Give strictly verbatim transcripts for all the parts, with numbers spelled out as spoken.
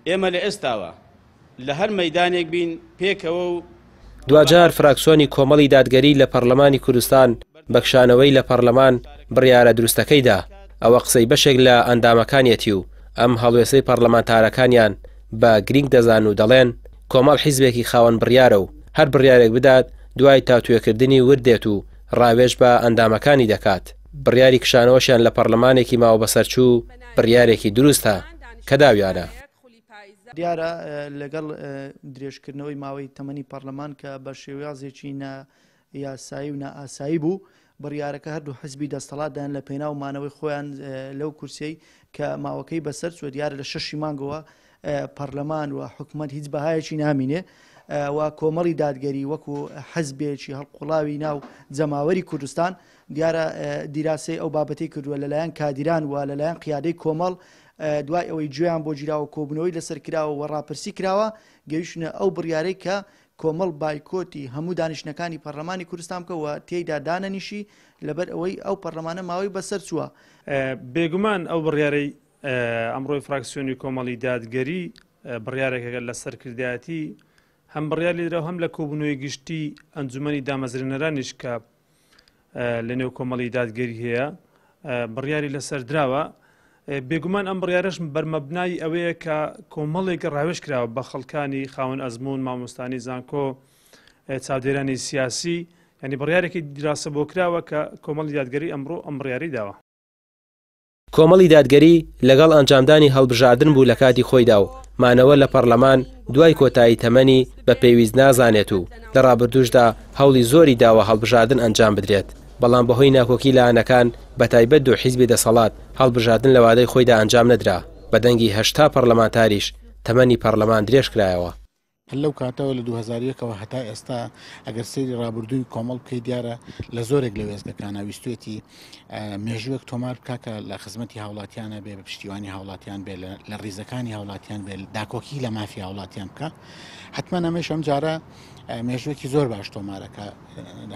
ئێمە لە ئێستاوە لە هەر مەیدانێک بین پێکەوە و دواجار فراکسیۆنی کۆمەڵی دادگەری لە پەرلەمانی کوردستان بەکشانەوەی لە پەرلەمان بڕیارە دروستەکەیدا. ئەوە قسەی بەشێک لە ئەندامەکانیەتی و ئەم هەڵوێستەی پەرلەمانتارەکانیان بە گرنگ دەزان و دەڵێن کۆمەڵ حیزبێکی خاوەن بڕیارە و هەر بڕیارێک بدات دوای تاوتوێکردنی ورد دێت و ڕاوێژ بە ئەندامەکانی دەکات. بڕیاری کشانەوەشیان لە پەرلەمانێکی ماوە بەسەرچوو بڕیارێکی دروستە کە داویانە. دیارە لەگەڵ درێژکردنەوەی ماوەی تەمەنی پەرلەمان کە بە شێوازێکی نایاسایی و نائاسایی بوو، بڕیارەکە هەردوو حزبی دەستەڵاتدان لە پێناو مانەوەی خۆیان لەو کورسیەی کە ماوەکەی بەسەر چووە. دیارە لە شەشی مانگەوە پەرلەمان و حکوومەت هیچ بەهایەکی نامینێ و کۆمەڵی دادگەری وەکو حزبێکی هەڵقوڵاوی ناو جەماوەری کوردستان دیارە دیراسەی ئەو بابەتەی کردووە لەلایەن کادیران و لەلایەن قیادەی کۆمەڵ دوای ئەوەی گوێیان بۆ گیراوە کۆبوونەوەی لەسەر کراوە و ڕاپرسی کراوە گەیشتنە ئەو بڕیارەی کە کۆمەڵ بایکۆتی هەموو دانیشتنەکانی پەرلەمانی کوردستان بکە و تێیدا دانەنیشی لەبەر ئەوەی ئەو پەرلەمانە ماوەی بەسەر چووە. بێگومان ئەو بڕیارەی ئەمڕۆی فراکسیۆنی کۆمەڵی دادگەری بڕیارێکە لە سەرکردایەتی هەم بڕیار لێدراوە هەم لە کۆبوونەوەی گشتی ئەنجومەنی دامەزرێنەرانیش کە لە نێو کۆمەڵی دادگەری هەیە بڕیاری لەسەر دراوە. بێگومان ئەم بڕیارەش بەرمەبنای ئەوەیە کە کۆمەڵێک ڕاوێژ کراوە بە خەڵکانی خاوەن ئەزموون، مامۆستانی زانکۆ، چاودێرانی سیاسی، یعنی بڕیارێکی دیراسە بۆ کراوە کە کۆمەڵی دادگەری ئەمڕۆ ئەم بڕیاری داوە. کۆمەڵی دادگەری لەگەڵ ئەنجامدانی هەڵبژاردن بوو لە کاتی خۆیدا و مانەوە لە پەرلەمان دوای کۆتایی تەمەنی بە پێویست نازانێت و لە ڕابردووشدا هەوڵی زۆری داوە هەڵبژاردن ئەنجام بدرێت، بەڵام بەهۆی ناکۆکی لایەنەکان بە تایبەت دوو حیزبی دەسەڵات هەڵبژاردن لە وادەی خۆیدا ئەنجام نەدرا. بە دەنگی هەشتا پەرلەمانتاریش تەمەنی پەرلەمان درێژ کرایەوە. لەو کاتەوە لە دوو هەزار و یەکەوە هەتا ئێستا ئەگەر سەیری ڕابردووی کۆمەڵ بکەی دیارە لە زۆرێک لە وێستگەکانە ویستوێتی مێژوویەک تۆمار بکا کە لە خزمەتی هاوڵاتیانە بێ، بە پشتیوانی هاوڵاتیان بێ، لە ڕیزەکانی هاوڵاتیان بێ، داکۆکی لە مافی هاوڵاتیان بکە. حتمما ئەمەش ئەم جارە مێژوویەکی زۆر باش تۆمارەکە.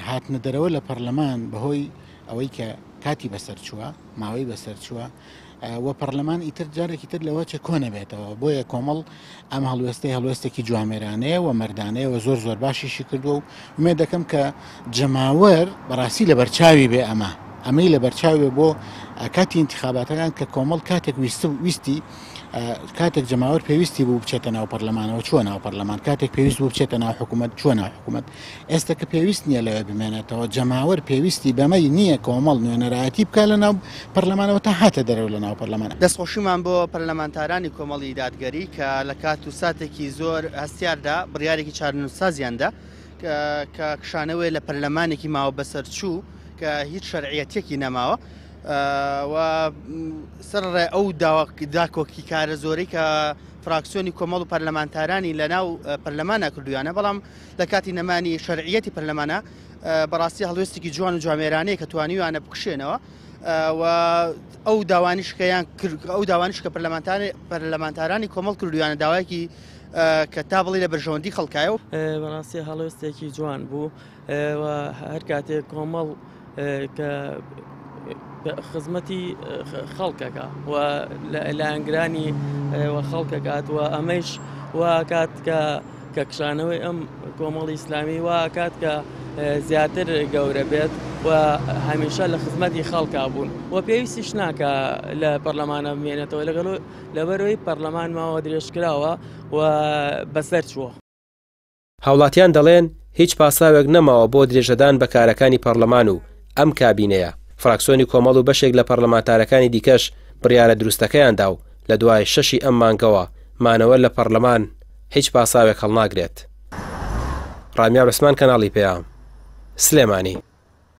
هاتنە دەرەوە لە پەرلەمان بەهۆی ئەوەی کە کاتی بەسەر چووە، ماوەی بەسەر چووە و پەرلەمان ئیتر جارێکی تر لەوە چێ کۆ نەبێتەوە. بۆیە کۆمەڵ ئەم هەڵوێستەی هەڵوێستێکی جوامێرانەیە و مەردانەیە و زۆر زۆر باشیشی کردووە و ئومێد دەکەم کە جەماوەر بەڕاستی لەبەرچاوی بێ ئەمە ئەمەی لەبەرچاوی بێ بۆ کاتی انتخاباتەکان کە کۆمەڵ کاتێک ویستی کاتێک جەماوەر پێویستی بوو بچێتە ناو پەرلەمانەوە چووە ناو پەرلەمان، کاتێک پێویست بوو بچێتە ناو حکوومەت چووە ناو حکوومەت. ئێستا کە پێویست نییە لەوێ بمێنێتەوە، جەماوەر پێویستی بەمەی نییە کۆمەڵ نوێنەرایەتی بکە لە ناو پەرلەمانەوە تا هاتە دەرەوە لە ناو پەرلەمان. دەستخۆشیمان بۆ پەرلەمانتارانی کۆمەڵی دادگەری کە لە کات و ساتێکی زۆر هەستیاردا بڕیارێکی چارەنووسسازیاندا کە کشانەوەی لە پەرلەمانێکی ماوە بەسەرچوو کە هیچ شەرعیەتێکی نەماوە و سەرڕێ ئەو داکۆکی کارە زۆرەی کە فراکسیۆنی کۆمەڵ و پەرلەمانتارانی لە ناو پەرلەمانە کردویانە، بەڵام لە کاتی نەمانی شەرعیەتی پەرلەمانە بەڕاستی هەڵوێستێکی جوان و جوامێرانەیە کە توانیویانە بکشێنەوە و ئەو داوانیشکەیان ئەو داوانیش کە پەرلەمانتارانی کۆمەڵ کردویانە داوایەکی کە تا بڵێ لە بەرژەوەندی خەڵکایە. بەڕاستی هەڵوێستێکی جوان بوو و هەر کاتێک کۆمەڵ کە خزمەتی خەڵکەکە و لایەنگرانی و خەڵکەکات و ئەمەیش واکات کە کە کشانەوەی ئەم کۆمەڵی ئیسلامی واکات کە زیاتر گەورە بێت و هەمیشە لە خزمەتی خەڵکا بوون و پێویستیش ناکە لە پەرلەمانە بمێنێتەوە لەگەڵ لەبەرەوەی پەرلەمان ماوە درێژکراوە و بەسەر چووە. هاوڵاتیان دەڵێن هیچ پاساوێک نەماوە بۆ درێژەدان بە کارەکانی پەرلەمان و ئەم کابینەیە. فراکسیۆنی کۆمەڵ و بەشێک لە پەرلەمانتارەکانی دیکەش بڕیارە دروستەکەیاندا و لە دوای شەشی ئەم مانگەوە مانەوە لە پەرلەمان هیچ پاساوێک هەڵناگرێت. ڕامیار عوسمان، کەناڵی پەیام، سلێمانی.